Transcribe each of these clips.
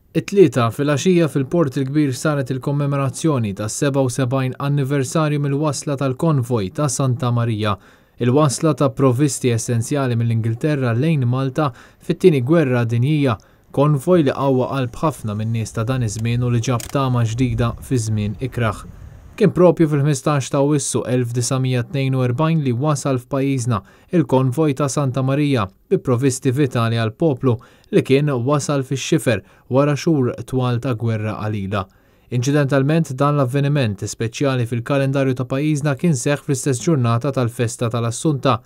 It-Tlieta filgħaxija fil-Port il-Kbir saret il-kommemorazzjoni tas-77 anniversarju mill-wasla tal-konvoj ta' Santa Marija, il-wasla ta' provvisti essenzjali mill-Ingilterra lejn Malta fit-Tieni Gwerra Dinjija, konvoj li qawwa qalb ħafna min-nies ta' dan iż-żmien u li ġab tama ġdida fi żmien ikrah. Kien propju fil-15 ta' Awwissu 1942 li wasal f'pajjiżna il-konvoj ta' Santa Marija bi provvisti vitali għall-poplu li kien wasal fix-xifer wara xhur twal ta' gwerra qalila. Inċidentalment dan l-avveniment speċjali fil-kalendarju ta' pajjiżna kien seħħ fl-istess ġurnata tal-festa tal-Assunta.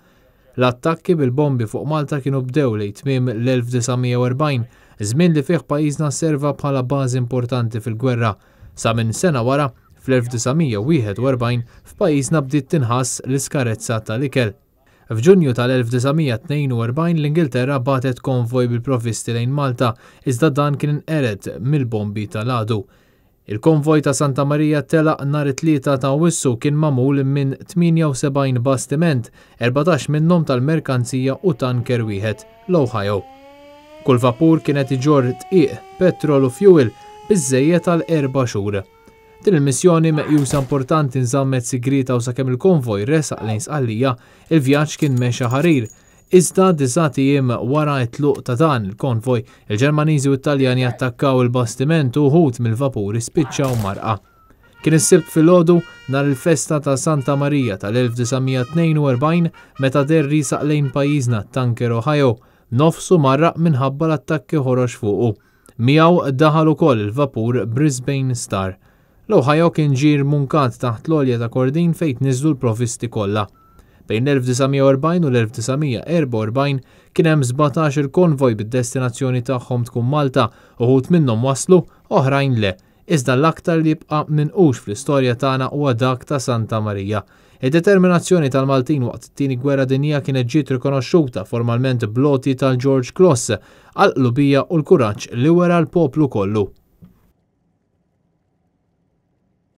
L-attakki bil-bombi fuq Malta kienu bdew lejn tmiem l-1940, żmien li fih pajjiżna serva bħala bażi importanti fil-gwerra. Sa minn sena wara, fl-1941, f'pajjiżna bdiet tinħass l-iskarezza tal-ikel. F'Ġunju tal-1942 l-Ingilterra bagħtet konvoj bil-provvisti lejn Malta, iżda dan kien inqered mill-bombi tal-għadu. Il-konvoj ta' Santa Marija telaq nhar it-Tlieta ta' Awwissu kien magħmul minn 78 bastiment, 14 minnhom tal-merkanzija u tanker wieħed, l-Ohio. Kull vapur kien qed iġorr dqiq, petrol u fjuwil biżżejjed għal erba' xhur. Din il-missjoni meqjusa importanti nżammet sigrieta u sakemm il-konvoj resaq lejn Sqallija, il-vjaġġ kien mexa ħarir. Iżda disat ijiem wara t-tluq ta' dan il-konvoj, il-Ġermaniżi u t-Taljani attakkaw il-bastiment u wħud mill-vapuri spiċċaw mgħarrqa. Kien is-Sibt filgħodu, nhar il-festa ta' Santa Marija tal-1942, meta deher riesaq lejn pajjiżna t-tanker Ohio, nofsu mgħarraq minħabba l-attakki ħorox fuqu. Miegħu daħal ukoll il-vapur Brisbane Star. L-Ohio kien ġie rmunkat taħt l-għolja ta' Kordin fejn tniżżlu l-provvisti kollha. Bejn l-1940 u l-1944 kien hemm 17-il konvoj bid-destinazzjoni tagħhom tkun Malta, uħud minnhom waslu, oħrajn le. Iżda l-aktar li jibqa' minqux fl-istorja tagħna huwa dak ta' Santa Marija. Id-determinazzjoni tal-Maltin waqt it-Tieni Gwerra Dinjija kienet ġiet rikonoxxuta formalment bl-għoti tal-George Cross għall-qlubija u l-kuraġġ li wera l-poplu kollu.